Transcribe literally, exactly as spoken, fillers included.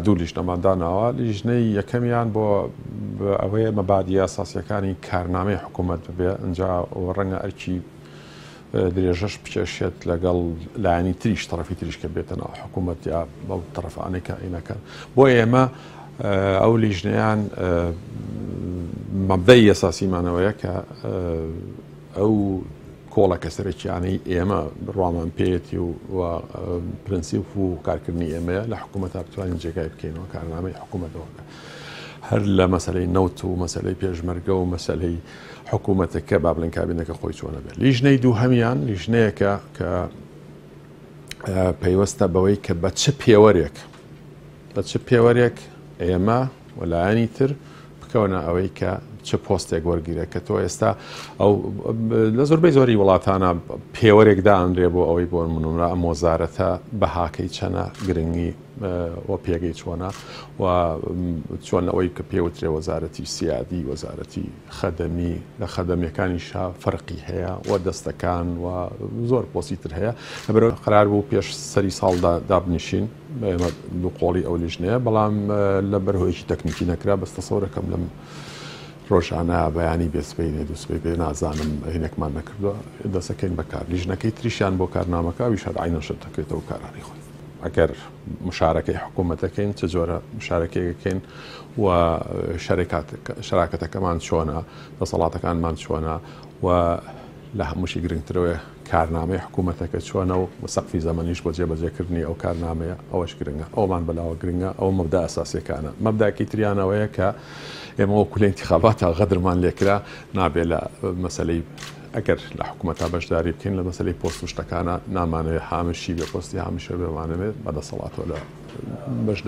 دوو لیژنەمان داناوە. لیژنەی یەکەمیان بۆ ئەوەیە مەبادی ئەساسیەکانی کارنامەی حکوومەت ببێ، ئینجا ڕەنگە ئەرکی درێژەش بکێشێت لەگەڵ لایەنی تریش، طرفی تریش کە بێتە ناو حکوومەت یا بەو طرفانەی کە ئینەکەن. بۆ ئێمە ئەو لیژنەیان مەبدەی ئەساسیمانەوەیە کە ئەو کۆڵەکە سەرەکیانەی ئێمە بڕوامان پێیەتی و پرەنسیپ و کارکردنی ئێمەیە لە حکوومەت بتوانین جێگای بکەینەوە کارنامەی حکوومەتەوە، هەر لە مەسلەی نەوت و مەسلەی پێشمەرگە و مەسلەی حکوومەتەکە با بڵێن کابینەکە خۆی چۆنە بێت. لیژنەی دووهەمیان لیژنەیەکە کە پەیوەستە بەوەی کە بە چ پێوەرێک بە چ پێوەرێک ئێمە وەلایەنی تر بکەونە ئەوەی کە چ پۆستێک وەرگیرە، کە تۆ ئێستا ئەو لە زۆربەی زۆری وڵاتانە پێوەرێک دانرێ بۆ ئەوەی بۆ منونرا ئەم وەزارەتە بەهاکەی چەنە، گرنگی و پێگەی چۆنە و چۆن ئەوەی کە پێوترێ وەزارەتی سیادی، وەزارەتی خەدەمی، لە خەدەمیەکانیشا فەرقی هەیە و دەستەکان و زۆر پۆستی تر هەیە. لەبەرەوە قرار بوو پێش سەری ساڵدا دابنیشین ئێمە دوو قۆڵی ئەو لیژنەیە، بەڵام لەبەر هۆیەکی تەکنیکی نەکرا. بەس تەسەورەکەم لەم ڕۆژانە بەیانی بێسبەینێ دووسبەی بێ نازانم هینێکمان نەکردووە، دەسەکەین بەکار. لیژنەکەی تریشیان بۆ کارنامەکە ئەویش هەر عینەن شت دەکرێتەوە کارانی خۆی. ئەگەر مشارەکەی حکوومەتەکەین چ جۆرە مشارەکەیەکەین و شەراکەتەکەمان چۆنە، دەسەڵاتەکانمان چۆنە و لە هەمووشی گرنگترەوەی کارنامەی حکوومەتەکە چۆنە و سەقفی زەمەنیش بۆ جێبەجێکردنی ئەو کارنامەیە، ئەوەش گرنگە، ئەومان بەلاوە گرنگە. ئەو مەبدا ئەساسیەکانە. مەبداکی تریانەوەیە کە ئێمە وەکو لە ئینتیخاباتە غەدرمان لێکرا، نابێ لە مەسلەی ئەگەر لە حکوومەتا بەشداری بکەین لە مەسلەی پۆست و شتەکانە نامانەوێت هامشی بێ، پۆستی هامشە بێمانەوێت بەدەسەڵاتەوە لە بەشداری.